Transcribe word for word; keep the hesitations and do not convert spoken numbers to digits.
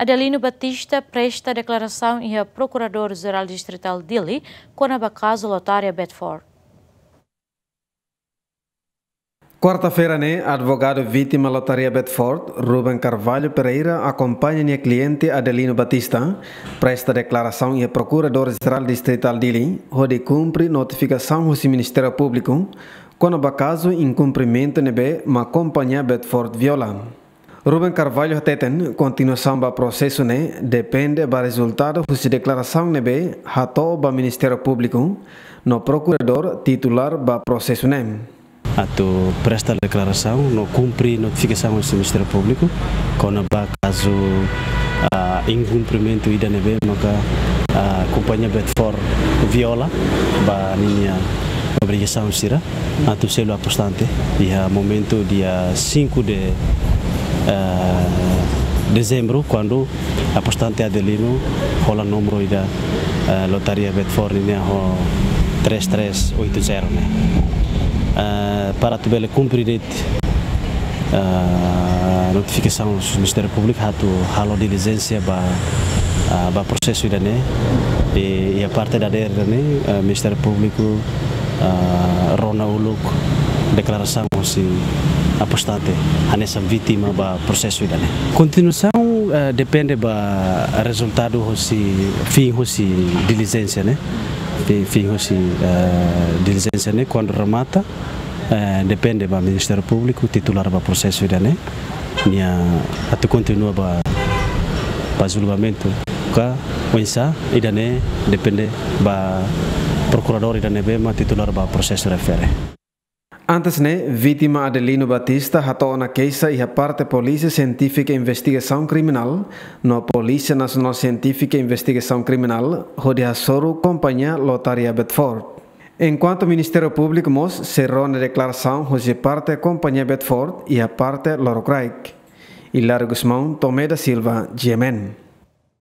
Adelino Batista presta deklarasaun iha Prokuradór Jerál Distritál Dili kona-ba kazu Lotaria Bedford. Kuarta-feira ne'e, advogadu vítima Lotaria Bedford, Ruben Carvalho Pereira, akompaña nia kliente Adelino Batista, presta deklarasaun iha Prokuradór Jerál Distritál Dili, hodi kumpre notifikasaun husi Ministériu Públiku kona-ba kazu inkumprimentu ne'ebé mak kompañia Bedford viola. Ruben Carvalho hateten, kontinuasaun ba prosesu ne'e depende ba rezultadu husi deklarasaun ne'ebé hato'o ba Ministériu Públiku no prokuradór titulár ba prosesu ne'e. Atu presta deklarasaun no kumpre notifikasaun husi Ministériu Públiku kona-ba kazu, ah, inkumprimentu ida ne'ebé maka, ah, kompañia Bedford viola ba ninia obrigasaun sira atu selu apostante iha momentu dia cinco de, eh, dezembro, kuandu apostante Adelino hola númeru ida, eh, Lotaria Bedford nian ho três três oito zero ne'e. Eh, para atu bele kumpre de'it, eh, notifikasaun Ministériu Públiku atu halo dilijénsia ba, ah, ba prosesu ida-ne'e. I, iha parte dadeer ida-ne'e, eh, Ministériu Públiku, ah, rona uluk deklarasaun husi apostante hanesan vítima ba prosesu ida-ne'e. Kontinuasaun, eh, depende ba rezultadu husi, fin husi dilijénsia ne'e. Fin, fin husi, eh, dilijénsia ne'e kuandu remata, eh, depende ba Ministériu Públiku titulár ba prosesu ida-ne'e, nia atu kontinua ba, ba julgamentu ka oinsá, ida-ne'e depende ba prokuradór ida ne'ebé mak titulár ba prosesu refere. Antes ne'e, vítima Adelino Batista hato'o ona keixa iha parte Polísia Sientífika Investigasaun Kriminál no Polísia Nasionál Sientífika Investigasaun Kriminál hodi hasoru kompañia Lotaria Bedford. Enkuantu Ministériu Públiku mós sei rona deklarasaun husi parte kompañia Bedford iha parte lorokraik. Hilario Gusmão, Tomé da Silva, G M N.